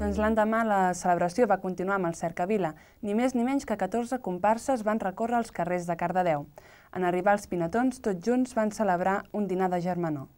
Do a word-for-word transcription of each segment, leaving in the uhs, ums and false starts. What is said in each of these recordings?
Doncs l'endemà la celebració va continuar amb el Cercavila. Ni més ni menys que catorze comparses van recórrer els carrers de Cardedeu. En arribar els pinetons, tots junts van celebrar un dinar de germanor.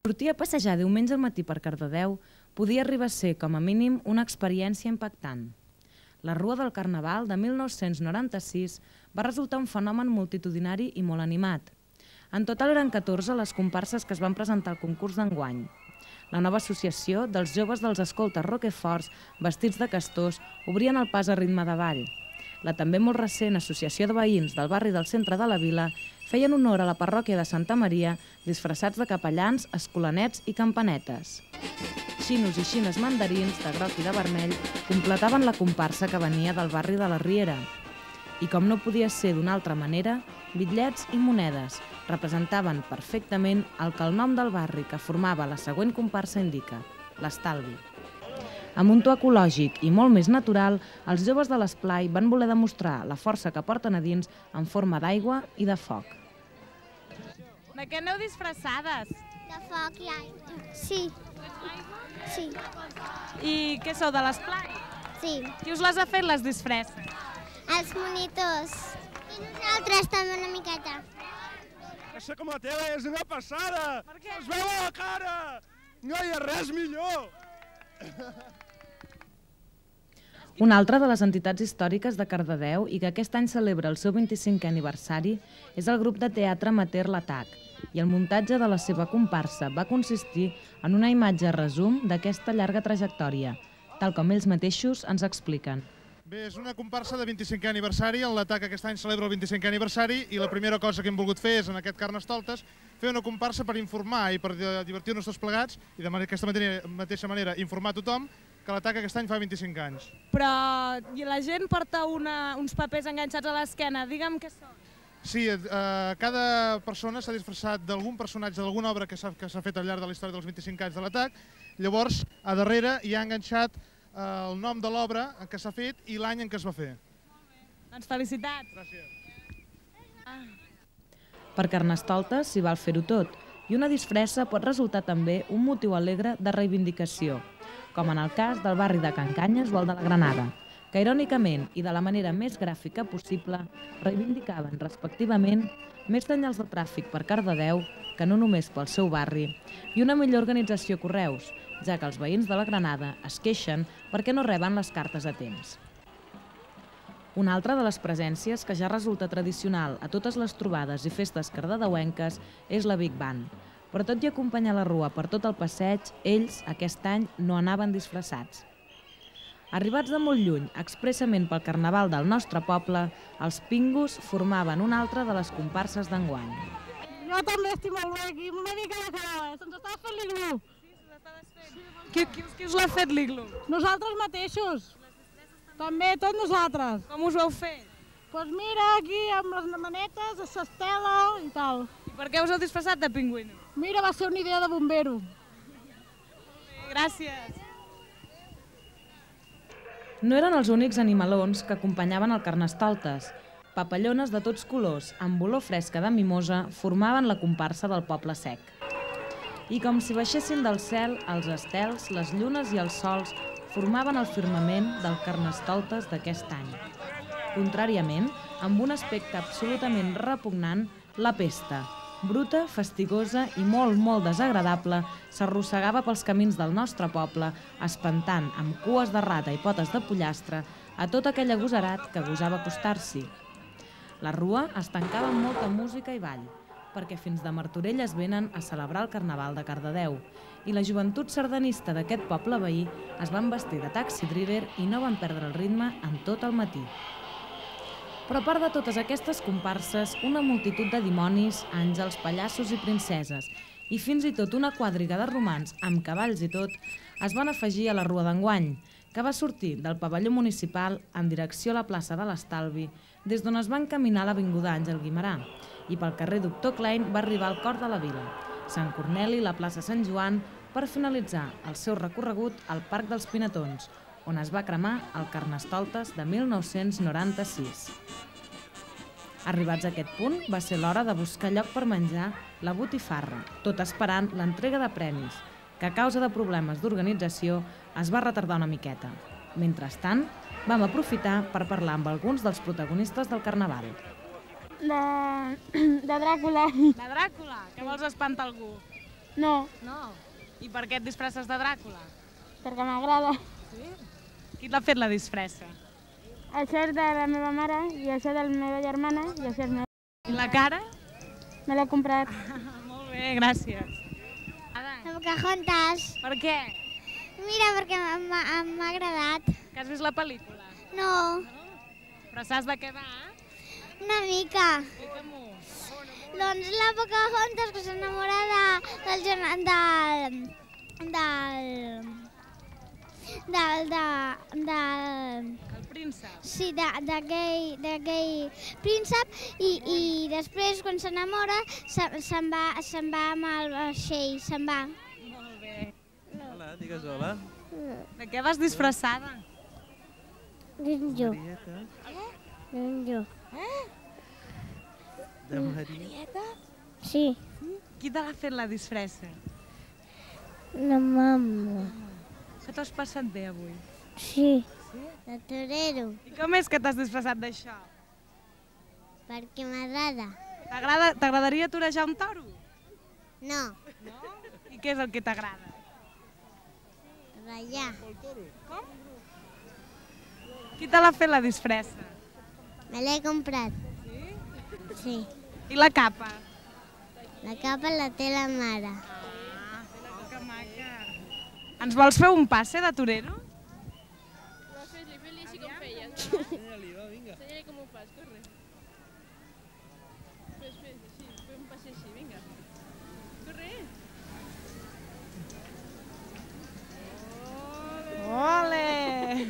Sortir a passejar diumenge al matí per Cardedeu podia arribar a ser, com a mínim, una experiència impactant. La Rua del Carnaval de mil nou-cents noranta-sis va resultar un fenomen multitudinari i molt animat. En total eren catorze les comparses que es van presentar al concurs d'enguany. La nova associació dels joves dels escoltes roqueforts vestits de castors obrien el pas a ritme de ball. La també molt recent Associació de Veïns del barri del centre de la vila feien honor a la parròquia de Santa Maria disfressats de capellans, escolanets i campanetes. Xinos i xines mandarins, de groc i de vermell, completaven la comparsa que venia del barri de la Riera. I com no podia ser d'una altra manera, bitllets i monedes representaven perfectament el que el nom del barri que formava la següent comparsa indica, l'estalvi. Amb un to ecològic i molt més natural, els joves de l'esplai van voler demostrar la força que porten a dins en forma d'aigua i de foc. De què aneu disfressades? De foc i aigua. Sí. Sí. I què sou, de l'esplai? Sí. Qui us les ha fet, les disfresses? Els monitors. I nosaltres també una miqueta. Això com la teva és una passada! Per què? Es veu a la cara! No hi ha res millor! Una altra de les entitats històriques de Cardedeu i que aquest any celebra el seu vint-i-cinquè aniversari és el grup de teatre amateur L'Atac, i el muntatge de la seva comparsa va consistir en una imatge resum d'aquesta llarga trajectòria, tal com ells mateixos ens expliquen. Bé, és una comparsa de vint-i-cinquè aniversari, el L'Atac aquest any celebra el vint-i-cinquè aniversari i la primera cosa que hem volgut fer és, en aquest Carnestoltes, fer una comparsa per informar i per divertir-nos tots plegats i d'aquesta mateixa manera informar a tothom que l'Atac aquest any fa vint-i-cinc anys. Però la gent porta una, uns papers enganxats a l'esquena, digue'm què són. Sí, eh, cada persona s'ha disfressat d'algun personatge d'alguna obra que s'ha fet al llarg de la història dels vint-i-cinc anys de l'Atac. Llavors, a darrere hi ha enganxat eh, el nom de l'obra que s'ha fet i l'any en què es va fer. Molt bé. Doncs felicitats. Gràcies. Ah. Per Carnestoltes s'hi val fer-ho tot, i una disfressa pot resultar també un motiu alegre de reivindicació, com en el cas del barri de Can Canyes o el de la Granada, que irònicament i de la manera més gràfica possible reivindicaven respectivament més senyals de tràfic per Cardedeu, que no només pel seu barri, i una millor organització a correus, ja que els veïns de la Granada es queixen perquè no reben les cartes a temps. Una altra de les presències que ja resulta tradicional a totes les trobades i festes cardedeuenques és la Big Band. Però tot i acompanyar la rua per tot el passeig, ells aquest any no anaven disfressats. Arribats de molt lluny, expressament pel carnaval del nostre poble, els Pingus formaven una altra de les comparses d'enguany. Jo també estic molt bé aquí, una mica de cara, se'ns estava fent l'iglú. Sí, se l'estaves fent. Qui, qui, qui us l'ha fet l'iglú? Nosaltres mateixos. També, tots nosaltres. Com us ho heu fet? Doncs mira, aquí amb les manetes, s'estela i tal. I per què us heu disfressat de pingüino? Mira, va ser una idea de bombero. Gràcies. No eren els únics animalons que acompanyaven el Carnestoltes. Papallones de tots colors, amb olor fresca de mimosa, formaven la comparsa del Poble Sec. I com si baixessin del cel, els estels, les llunes i els sols formaven el firmament del Carnestoltes d'aquest any. Contràriament, amb un aspecte absolutament repugnant, la pesta, bruta, fastigosa i molt, molt desagradable, s'arrossegava pels camins del nostre poble, espantant amb cues de rata i potes de pollastre a tot aquell agosarat que gosava acostar-s'hi. La rua es tancava amb molta música i ball, perquè fins de Martorell es venen a celebrar el Carnaval de Cardedeu, i la joventut sardanista d'aquest poble veí es van vestir de taxi driver i no van perdre el ritme en tot el matí. Però a part de totes aquestes comparses, una multitud de dimonis, àngels, pallassos i princeses, i fins i tot una quadriga de romans, amb cavalls i tot, es van afegir a la rua d'enguany, que va sortir del pavelló municipal en direcció a la plaça de l'Estalvi, des d'on es va encaminar l'avinguda Àngel Guimerà, i pel carrer Doctor Klein va arribar al cor de la vila, Sant Corneli i la plaça Sant Joan, per finalitzar el seu recorregut al Parc dels Pinetons, on es va cremar el Carnestoltes de mil nou-cents noranta-sis. Arribats a aquest punt, va ser l'hora de buscar lloc per menjar la botifarra, tot esperant l'entrega de premis, que a causa de problemes d'organització es va retardar una miqueta. Mentrestant, vam aprofitar per parlar amb alguns dels protagonistes del Carnaval. De, de Dràcula. De Dràcula? Que vols espantar algú? No, No. I per què et disfresses de Dràcula? perquè m'agrada. Sí? Qui t'ha fet la disfressa? Això és de la meva mare i això de la meva germana i això és meu. I la cara? Me l'he comprat. Molt bé, gràcies. Ada, De Pocahontas. per què? Mira, perquè m'ha m'ha agradat. Que has vist la pel·lícula? No, Però saps de què va? una mica. Explica-m'ho. Doncs la Pocahontas que s'enamora de, del, gena- del, del, del, de, del, El príncep. sí, de- d'aquell d'aquell príncep i, i després quan s'enamora se- se'n va, se'n va amb el vaixell, se'n va. Molt bé. Hola, digues hola. De què vas disfressada? Jo, Marieta. jo. De Marieta. Sí, Qui te l'ha fet la disfressa? la mama. Que t'has passat bé avui? Sí, de torero, I com és que t'has disfressat d'això? perquè m'agrada. T'agrada- T'agradaria torejar un toro? No, I què és el que t'agrada? ratllar. Qui te l'ha fet la disfressa? Me l'he comprat. Sí, I la capa? la capa la té la mare. Ah, que maca. Ens vols fer un passe de torero? Enseña-li, va, vinga. Ole!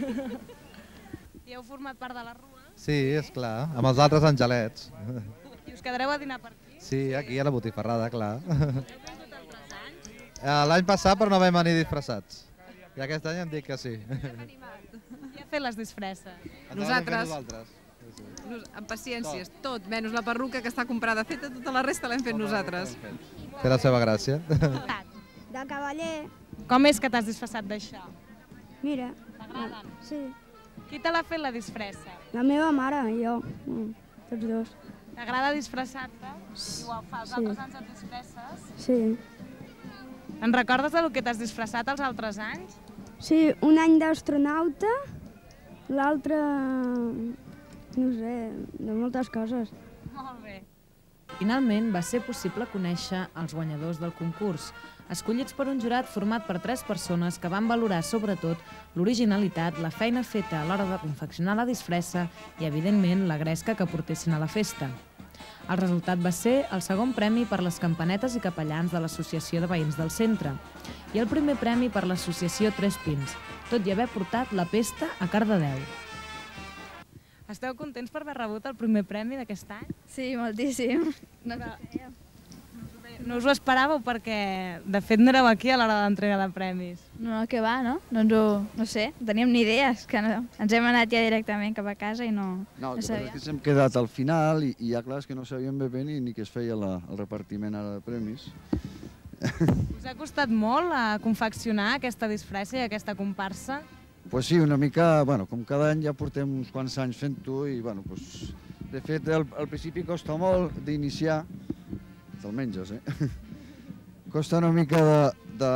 I heu format part de la rua? Sí, és clar, amb els altres angelets. I us quedareu a dinar per aquí? Sí, aquí a la botifarrada, clar. Eh, L'any passat però no vam venir disfressats. I aquest any em dic que sí. Qui ha fet les disfresses? Ens ho vam fer Nosaltres. nosaltres. Sí, sí. Nos- Amb paciències, tot, menys la perruca que està comprada feta, tota la resta l'hem fet nosaltres. Té la seva gràcia. De cavaller. Com és que t'has disfressat d'això? Mira, T'agraden? sí, Qui te l'ha fet la disfressa? la meva mare i jo, mm, tots dos. T'agrada disfressar-te? I ho fas, els Sí. altres anys et disfresses? Sí. En recordes del que t'has disfressat els altres anys? Sí, un any d'astronauta, l'altre, no sé, de moltes coses. Molt bé. Finalment, va ser possible conèixer els guanyadors del concurs, escollits per un jurat format per tres persones que van valorar sobretot l'originalitat, la feina feta a l'hora de confeccionar la disfressa i, evidentment, la gresca que portessin a la festa. El resultat va ser el segon premi per les campanetes i capellans de l'Associació de Veïns del Centre i el primer premi per l'Associació Tres Pins, tot i haver portat la pesta a Cardedeu. Esteu contents per haver rebut el primer premi d'aquest any? Sí, moltíssim. No Però no us ho esperàveu perquè, de fet, no éreu aquí a l'hora de l'entrega de premis. No, que va, no? Doncs ho, no sé, teníem ni idees, que no. Ens hem anat ja directament cap a casa i no, No, no el que passa és sabíem. que ens hem quedat al final i, i ja clar, és que no sabíem bé bé ni, ni que es feia la, el repartiment ara de premis. Us ha costat molt a confeccionar aquesta disfressa i aquesta comparsa? Pues sí, una mica, bueno, com cada any ja portem uns quants anys fent-ho i, bueno, pues, de fet, al, al principi costa molt d'iniciar, te'l menges, eh? Costa una mica de, de,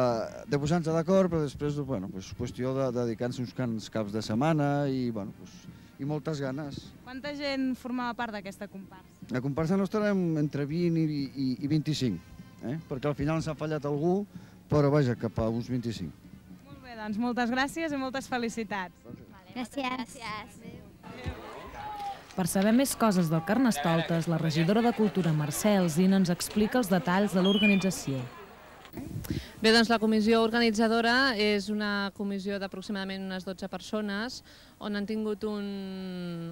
de posar-nos d'acord, però després, bueno, pues, qüestió de, de dedicar-nos uns cants caps de setmana i, bueno, pues, i moltes ganes. Quanta gent formava part d'aquesta comparsa? La comparsa nostra érem entre vint i, i, i vint-i-cinc, eh? Perquè al final ens ha fallat algú, però vaja, cap a uns vint-i-cinc. Molt bé, doncs moltes gràcies i moltes felicitats. Gràcies. Gràcies. Per saber més coses del Carnestoltes, la regidora de Cultura Mercè Alsina ens explica els detalls de l'organització. Bé, doncs la comissió organitzadora és una comissió d'aproximadament unes dotze persones on han tingut un,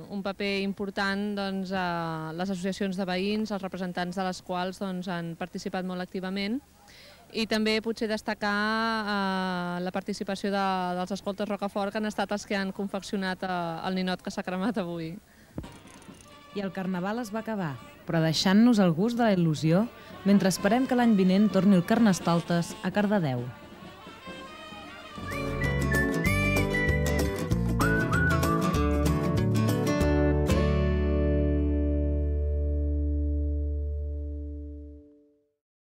un paper important doncs, a les associacions de veïns, els representants de les quals doncs, han participat molt activament, i també potser destacar eh, la participació de, dels escoltes Rocafort, que han estat els que han confeccionat eh, el ninot que s'ha cremat avui. I el Carnaval es va acabar, però deixant-nos el gust de la il·lusió, mentre esperem que l'any vinent torni el Carnestoltes a Cardedeu.